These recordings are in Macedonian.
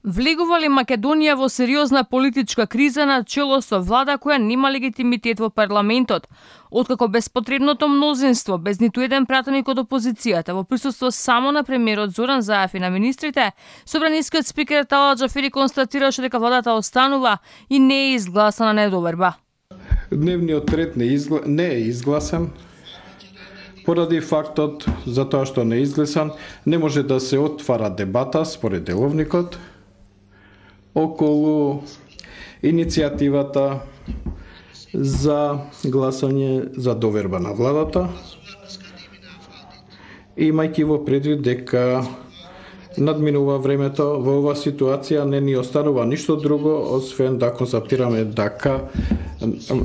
Влегува ли Македонија во сериозна политичка криза на чело со влада која нема легитимитет во парламентот? Откако безпотребното мнозинство, без ниту еден пратеник од опозицијата, во присуство само на премиерот Зоран Заев и на министрите, собранискиот спикер Талат Џафери констатираше дека владата останува и не е изгласана недоверба. Дневниот ред не е изгласан. Поради фактот за тоа што не е изгласан, не може да се отвара дебата според деловникот околу иницијативата за гласање за доверба на владата, имајќи во предвид дека надминува времето, во оваа ситуација не ни останува ништо друго освен да констатираме дека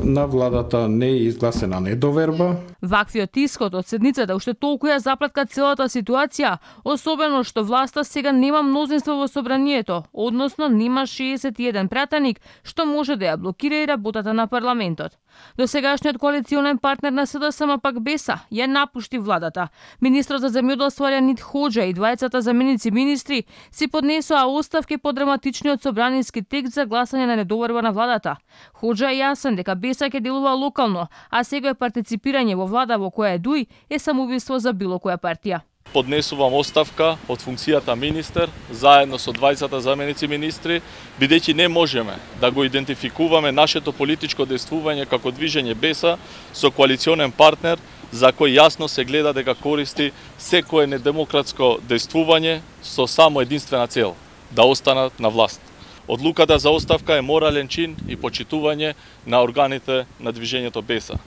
на владата не е изгласена недоверба. Ваквиот исход од седницата уште толку ја запратка целата ситуација, особено што власта сега нема мнозинство во собранието, односно нема 61 пратеник, што може да ја блокира и работата на парламентот. Досегашниот коалиционен партнер на СДСМ пак Беса ја напушти владата. Министрот за земјоделство Арјанит Хоџа и двајцата заменици министри си поднесоа оставки по драматичниот собраниски текст за гласање на недоверба на владата. Хоџа е јасен дека Беса ќе делува локално, а сега партиципирање во влада во која е Дуј е самоубиство за било која партија. Поднесувам оставка од функцијата министер, заедно со двајцата заменици министри, бидејќи не можеме да го идентификуваме нашето политичко действување како движење Беса со коалиционен партнер за кој јасно се гледа дека користи секое недемократско действување со само единствена цел – да останат на власт. Одлуката за оставка е морален чин и почитување на органите на движењето Беса.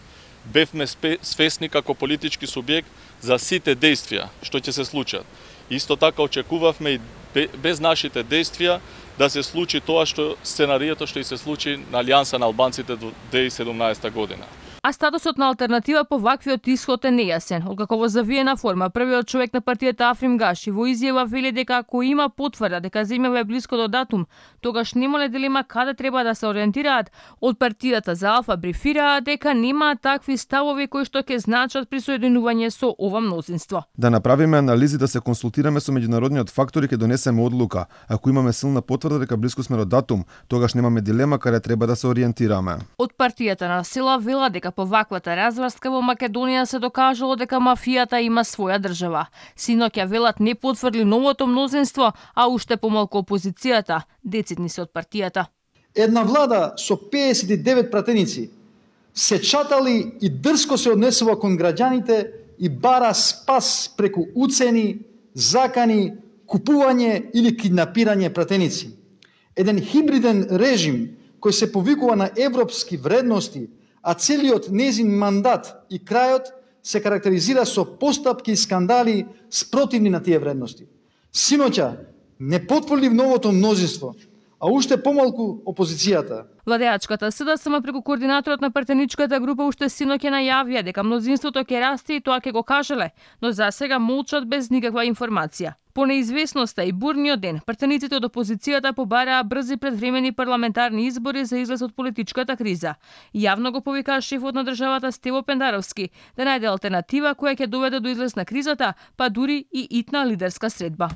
Бевме свесни како политички субјект за сите действија што ќе се случат. Исто така очекувавме и без нашите действија да се случи тоа што сценарието што и се случи на Алијанса на албанците до 2017 година. А статусот на алтернатива по ваквиот исход е нејасен. Откако во завиена форма првиот човек на партијата Африм Гаши во изјава вели дека ако има потврда дека земјава е блиско до датум, тогаш немале дилема каде треба да се ориентираат, од партијата за Алфа брифираат дека немаат такви ставови кои што ќе значат присоединување со ова мнозинство. Да направиме анализи, да се консултираме со меѓународниот фактор и ќе донесеме одлука. Ако имаме силна потврда дека блиско сме до датум, тогаш немаме дилема каде треба да се ориентираме. Од партијата на Сила вела дека по ваквата разврска во Македонија се докажало дека мафијата има своја држава. Синоќа велат не потврди новото мнозинство, а уште помалку опозицијата, децидни се од партијата. Една влада со 59 пратеници се чатали и дрско се однесува кон граѓаните и бара спас преку уцени, закани, купување или киднапирање пратеници. Еден хибриден режим кој се повикува на европски вредности, а целиот незин мандат и крајот се карактеризира со постапки и скандали спротивни на тие вредности. Синоќа не потврди новото мнозинство, а уште помалку опозицијата. Владеачката СДСМ преку координаторот на партеничката група уште синоќа најавија дека мнозинството ќе расте и тоа ќе го кажеле, но засега молчат без никаква информација. По неизвестноста и бурниот ден, партениците од опозицијата побараа брзи предвремени парламентарни избори за излез од политичката криза. Јавно го повикаа шефот на државата Стево Пендаровски да најде алтернатива која ќе доведе до излез на кризата, па дури и итна лидерска средба.